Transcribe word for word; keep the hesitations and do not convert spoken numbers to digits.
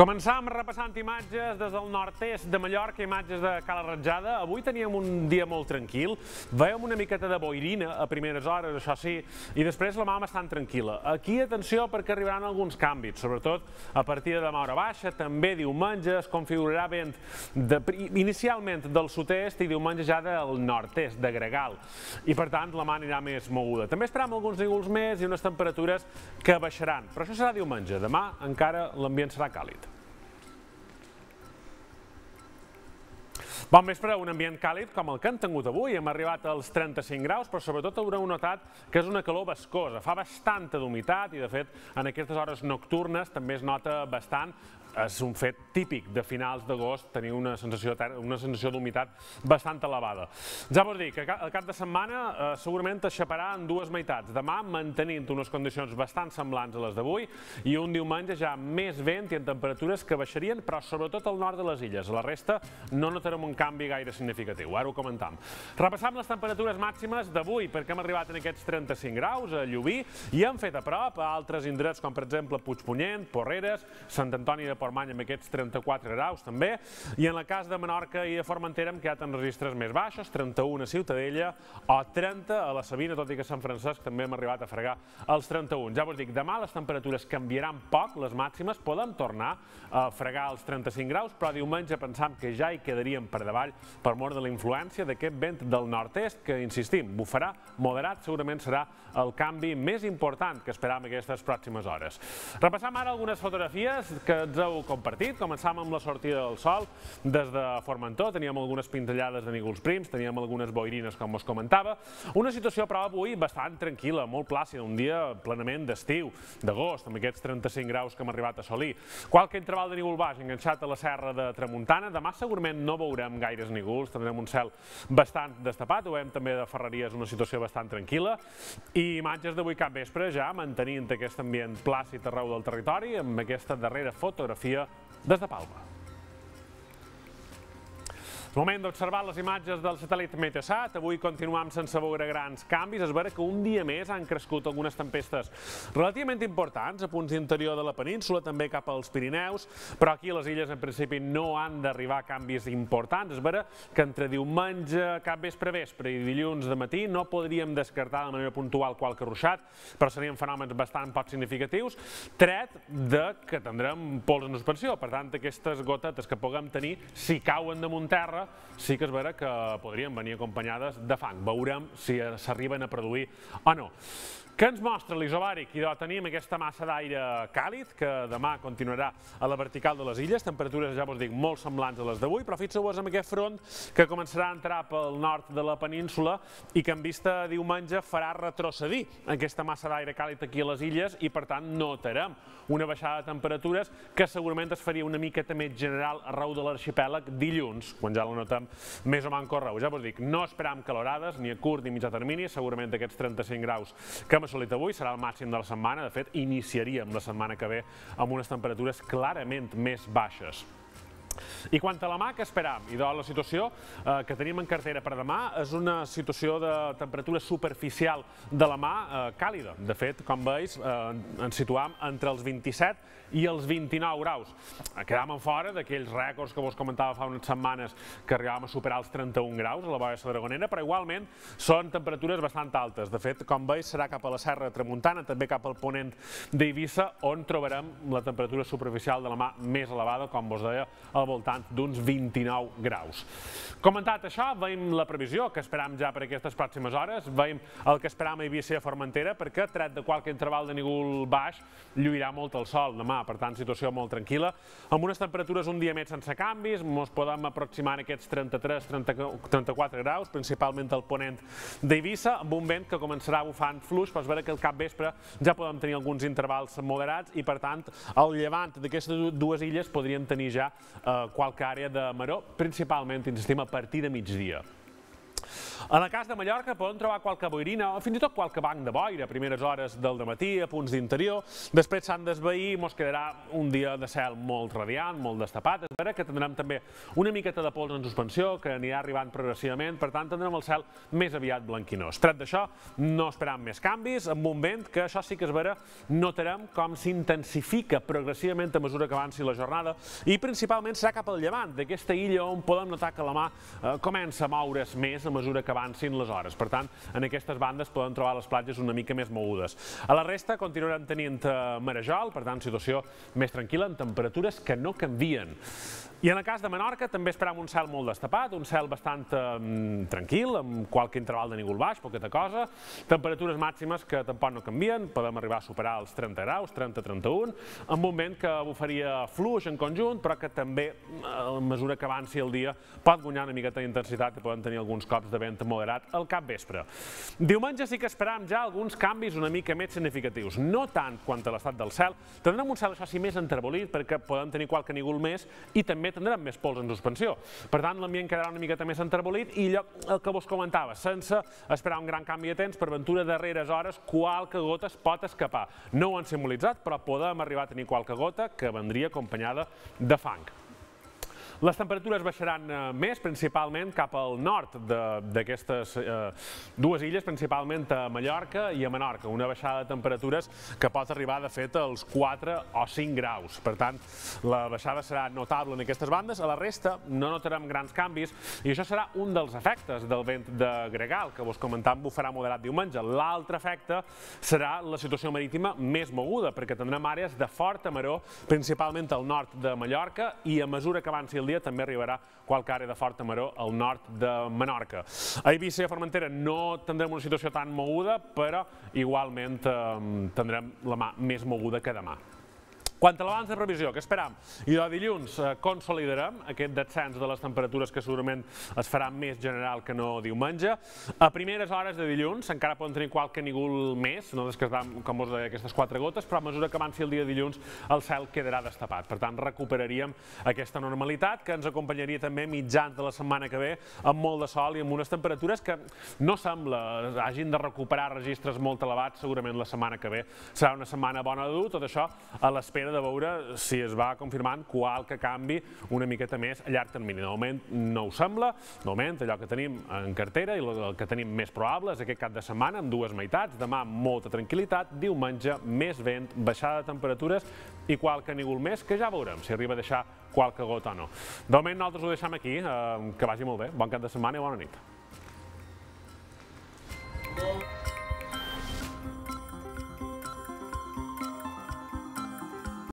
Començàvem repassant imatges des del nord-est de Mallorca, imatges de Cala Ratjada. Avui teníem un dia molt tranquil, veiem una miqueta de boirina a primeres hores, això sí, i després la mà bastant tranquil·la. Aquí, atenció, perquè arribaran alguns canvis, sobretot a partir de demà hora baixa, també diumenge es configurarà vent de, inicialment del sud-est i diumenge ja del nord-est, de gregal, i per tant la mà anirà més moguda. També esperam alguns nígols més i unes temperatures que baixaran, però això serà diumenge, demà encara l'ambient serà càlid. Bon vespre, un ambient càlid com el que hem tingut avui. Hem arribat als trenta-cinc graus, però sobretot haureu notat que és una calor bascosa. Fa bastanta d'humitat i, de fet, en aquestes hores nocturnes també es nota bastant. És un fet típic de finals d'agost tenir una sensació, una sensació d'humitat bastant elevada. Ja vos dic que el cap de setmana eh, segurament es xaparà en dues meitats. Demà mantenint unes condicions bastant semblants a les d'avui i un diumenge ja més vent i en temperatures que baixarien, però sobretot al nord de les illes. A la resta no notarem un canvi gaire significatiu. Ara ho comentam. Repassam les temperatures màximes d'avui perquè hem arribat en aquests trenta-cinc graus a Llubí i hem fet a prop a altres indrets com per exemple Puigpunyent, Porreres, Sant Antoni de Portmany amb aquests trenta-quatre graus també, i en el cas de Menorca i de Formentera hem quedat en registres més baixos, trenta-un a Ciutadella o trenta a la Sabina, tot i que a Sant Francesc també hem arribat a fregar els trenta-un. Ja vos dic, demà les temperatures canviaran poc, les màximes, podem tornar a fregar els trenta-cinc graus, però diumenge pensam que ja hi quedaríem per davall per mort de la influència d'aquest vent del nord-est que, insistim, bufarà moderat, segurament serà el canvi més important que esperam aquestes pròximes hores. Repassam ara algunes fotografies que ens heu compartit. Començàvem amb la sortida del sol des de Formentor, teníem algunes pintellades de nígols prims, teníem algunes boirines, com us comentava. Una situació, però, avui bastant tranquil·la, molt plàcida, un dia plenament d'estiu, d'agost, amb aquests trenta-cinc graus que hem arribat a assolir. Qualque interval de nígol baix enganxat a la serra de Tramuntana. Demà segurament no veurem gaires nígols, tindrem un cel bastant destapat, ho veiem també de Ferreries, una situació bastant tranquil·la, i imatges d'avui cap vespre ja mantenint aquest ambient plàcid arreu del territori, amb aquesta darrera fotografia des de Palma. És moment d'observar les imatges del satèl·lit Meteosat. Avui continuam sense veure grans canvis. És vera que un dia més han crescut algunes tempestes relativament importants a punts d'interior de la península, també cap als Pirineus, però aquí a les illes en principi no han d'arribar canvis importants. És vera que entre diumenge, cap vespre vespre i dilluns de matí no podríem descartar de manera puntual qualque ruixat, però serien fenòmens bastant poc significatius, tret de que tindrem pols en suspensió. Per tant, aquestes gotetes que puguem tenir, si cauen damunt terra, sí que és vera que podrien venir acompanyades de fang. Veurem si s'arriben a produir o no. Què ens mostra l'isobàric? Idò, tenim aquesta massa d'aire càlid que demà continuarà a la vertical de les illes, temperatures, ja vos dic, molt semblants a les d'avui, però fixeu-vos en aquest front que començarà a entrar pel nord de la península i que en vista diumenge farà retrocedir aquesta massa d'aire càlid aquí a les illes i per tant notarem una baixada de temperatures que segurament es faria una miqueta més general arreu de l'arxipèlag dilluns, quan ja la notem més o manco arreu. Ja vos dic, no esperam calorades ni a curt ni mitjà termini, segurament aquests trenta-cinc graus que hem assolit avui serà el màxim de la setmana. De fet, iniciaríem la setmana que ve amb unes temperatures clarament més baixes. I quant a la mà, què esperam? I la situació que tenim en cartera per demà és una situació de temperatura superficial de la mà càlida. De fet, com veus, ens situam entre els vint-i-set i els vint-i-nou graus. Quedàvem fora d'aquells rècords que vos comentava fa unes setmanes que arribàvem a superar els trenta-un graus a la Boia Dragonera, però igualment són temperatures bastant altes. De fet, com veus, serà cap a la serra de Tramuntana, també cap al ponent d'Eivissa, on trobarem la temperatura superficial de la mà més elevada, com vos deia, al voltant d'uns vint-i-nou graus. Comentat això, veiem la previsió que esperam ja per aquestes pròximes hores, veiem el que esperam a Eivissa i a Formentera, perquè tret de qualque interval de nígol baix, lluirà molt el sol demà, per tant, situació molt tranquil·la, amb unes temperatures un dia més sense canvis, ens podem aproximar a aquests trenta-tres trenta-quatre graus, principalment al ponent d'Eivissa, amb un vent que començarà bufant fluix, però és vera que al cap vespre ja podem tenir alguns intervals moderats i, per tant, al llevant d'aquestes dues illes podríem tenir ja qualque àrea de maror, principalment, insistim, a partir de migdia. En el cas de Mallorca podem trobar qualque boirina o fins i tot qualque banc de boira a primeres hores del dematí, a punts d'interior. Després s'han d'esvair i ens quedarà un dia de cel molt radiant, molt destapat. És vera que tindrem també una miqueta de pols en suspensió que anirà arribant progressivament, per tant tindrem el cel més aviat blanquinós. Tret d'això, no esperam més canvis, amb un vent que això sí que és vera, notarem com s'intensifica progressivament a mesura que avanci la jornada i principalment serà cap al llevant d'aquesta illa on podem notar que la mà eh, comença a moure's més a mesura que avancin les hores. Per tant, en aquestes bandes podem trobar les platges una mica més mogudes. A la resta continuarem tenint eh, marejol, per tant, situació més tranquil·la, amb temperatures que no canvien. I en el cas de Menorca també esperam un cel molt destapat, un cel bastant eh, tranquil, amb qualque interval de nígol baix, poqueta cosa, temperatures màximes que tampoc no canvien, podem arribar a superar els trenta graus, trenta a trenta-un, amb un vent que bufaria fluix en conjunt, però que també, a mesura que avanci el dia, pot guanyar una miqueta d'intensitat i poden tenir alguns cops de vent moderat al capvespre. Diumenge sí que esperam ja alguns canvis una mica més significatius, no tant quant a l'estat del cel, tindrem un cel això sí més entrebolit perquè podem tenir qualque nígol més i també tindrem més pols en suspensió. Per tant, l'ambient quedarà una miqueta més entrebolit i allò el que vos comentava, sense esperar un gran canvi de temps, per ventura darreres hores qualque gota es pot escapar. No ho han simbolitzat, però podem arribar a tenir qualque gota que vendria acompanyada de fang. Les temperatures baixaran més, principalment cap al nord d'aquestes dues illes, principalment a Mallorca i a Menorca, una baixada de temperatures que pot arribar, de fet, als quatre o cinc graus. Per tant, la baixada serà notable en aquestes bandes. A la resta no notarem grans canvis i això serà un dels efectes del vent de gregal, que vos comentàvem bufarà moderat diumenge. L'altre efecte serà la situació marítima més moguda, perquè tindrem àrees de forta maror, principalment al nord de Mallorca, i a mesura que avanci el dia també arribarà qualque àrea de forta maror al nord de Menorca. A Eivissa i a Formentera no tindrem una situació tan moguda, però igualment tindrem la mà més moguda que demà. Quant a l'abans de previsió, què esperam? I de dilluns consolidarem aquest descens de les temperatures que segurament es farà més general que no diumenge. A primeres hores de dilluns encara poden tenir qualque nígol més, no descartem, com us deia, aquestes quatre gotes, però a mesura que avanci el dia de dilluns el cel quedarà destapat. Per tant, recuperaríem aquesta normalitat que ens acompanyaria també mitjans de la setmana que ve amb molt de sol i amb unes temperatures que no sembla hagin de recuperar registres molt elevats. Segurament la setmana que ve serà una setmana bona de dur, tot això a l'espera de veure si es va confirmant qualque canvi una miqueta més a llarg termini. De moment no ho sembla, de moment allò que tenim en cartera i el que tenim més probable és aquest cap de setmana amb dues meitats, demà molta tranquil·litat, diumenge més vent, baixada de temperatures i qualque nígol més que ja veurem si arriba a deixar qualque gota o no. De moment nosaltres ho deixem aquí, que vagi molt bé, bon cap de setmana i bona nit.